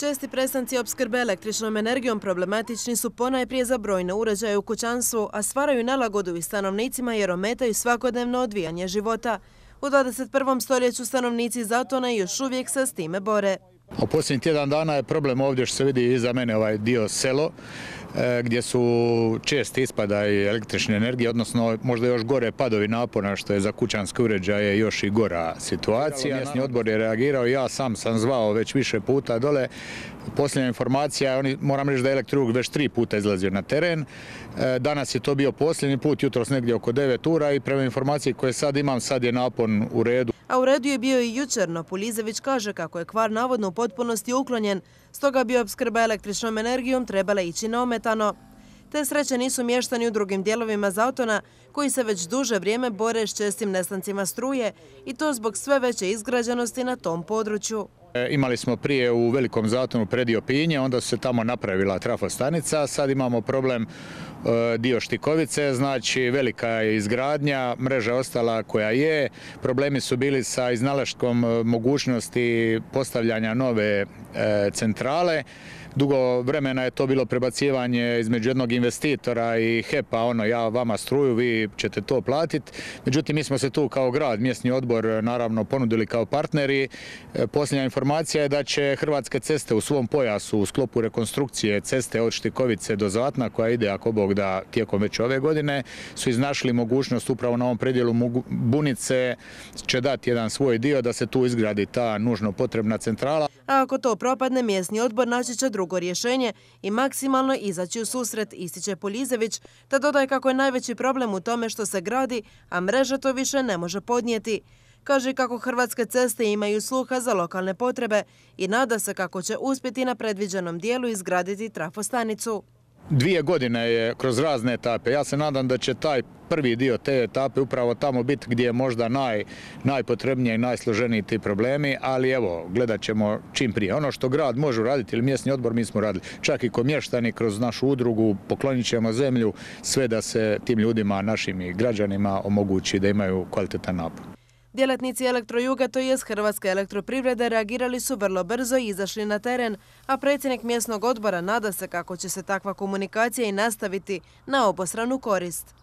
Česti prestanci opskrbe električnom energijom problematični su ponajprije za brojne uređaje u kućanstvu, a stvaraju nelagodu i stanovnicima jer ometaju svakodnevno odvijanje života. U 21. stoljeću stanovnici Zatona još uvijek se s time bore. U posljednjih tjedan dana je problem ovdje što se vidi iza mene ovaj dio selo, gdje su česti ispadaj električne energije, odnosno možda još gore padovi napona, što je za kućanske uređaje još i gora situacija. Mjesni odbor je reagirao, ja sam zvao već više puta dole. Posljednja informacija, moram reći da je Elektroluk već 3 puta izlazio na teren. Danas je to bio posljednji put, jutros negdje oko 9 ura i prema informaciji koje sad imam, sad je napon u redu. A u redu je bio i jučer, no Pulizević kaže kako je kvar navodno u potpunosti uklonjen, stoga bi opskrba električnom energijom trebala ići neometano. Te sreće nisu mještani u drugim dijelovima Zatona, koji se već duže vrijeme bore s čestim nestancima struje i to zbog sve veće izgrađenosti na tom području. Imali smo prije u Velikom Zatonu predio Pinje, onda su se tamo napravila trafostanica, sad imamo problem dio Štikovice, znači velika je izgradnja, mreža ostala koja je, problemi su bili sa iznalaškom mogućnosti postavljanja nove centrale. Dugo vremena je to bilo prebacivanje između jednog investitora i HEP-a, ja vama struju, vi ćete to platiti. Međutim, mi smo se tu kao grad, mjesni odbor, naravno ponudili kao partneri. Posljednja informacija je da će Hrvatske ceste u svom pojasu u sklopu rekonstrukcije ceste od Štikovice do Zatna, koja ide, ako Bog da, tijekom već ove godine, su iznašli mogućnost upravo na ovom predjelu Bunice će dati jedan svoj dio da se tu izgradi ta nužno potrebna centrala. A ako to propadne, mjesni odbor naći će drugo rješenje i maksimalno izaći u susret, ističe Pulizević, te dodaje kako je najveći problem u tome što se gradi, a mreža to više ne može podnijeti. Kaže kako Hrvatske ceste imaju sluha za lokalne potrebe i nada se kako će uspjeti na predviđenom dijelu izgraditi trafostanicu. 2 godine je kroz razne etape. Ja se nadam da će taj prvi dio te etape upravo tamo biti gdje je možda najpotrebnije i najsloženiji ti problemi, ali evo, gledat ćemo čim prije. Ono što grad može uraditi ili mjesni odbor, mi smo radili. Čak i ko mještani kroz našu udrugu poklonit ćemo zemlju, sve da se tim ljudima, našim i građanima omogući da imaju kvalitetan napon. Djelatnici Elektrojuga, to jest Hrvatske elektroprivrede, reagirali su vrlo brzo i izašli na teren, a predsjednik mjesnog odbora nada se kako će se takva komunikacija i nastaviti na obostranu korist.